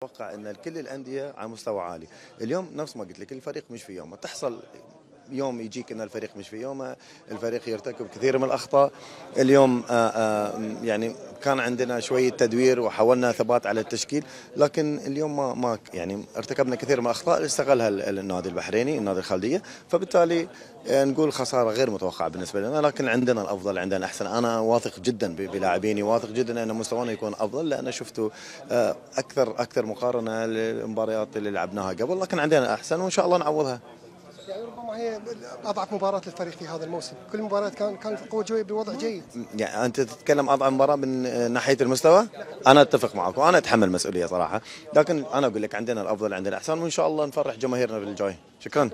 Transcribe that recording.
اتوقع ان كل الانديه على مستوى عالي. اليوم نفس ما قلت لك الفريق مش في يومه، تحصل يوم يجيك ان الفريق مش في يومه، الفريق يرتكب كثير من الاخطاء. اليوم يعني كان عندنا شويه تدوير وحاولنا ثبات على التشكيل، لكن اليوم ما يعني ارتكبنا كثير من الاخطاء اللي استغلها النادي البحريني، النادي الخالديه، فبالتالي نقول خساره غير متوقعه بالنسبه لنا، لكن عندنا الافضل، عندنا احسن. انا واثق جدا بلاعبيني، واثق جدا ان مستوانا يكون افضل، لان شفتوا اكثر مقارنه للمباريات اللي لعبناها قبل، لكن عندنا احسن وان شاء الله نعوضها. يعني ربما هي اضعف مباراه للفريق في هذا الموسم، كل المباريات كانت القوه بوضع جيد. يعني انت تتكلم اضعف مباراه من ناحيه المستوى؟ انا اتفق معك وانا اتحمل مسؤوليه صراحه، لكن انا اقول لك عندنا الافضل، عندنا احسن، وان شاء الله نفرح جماهيرنا بالجاي. شكرا.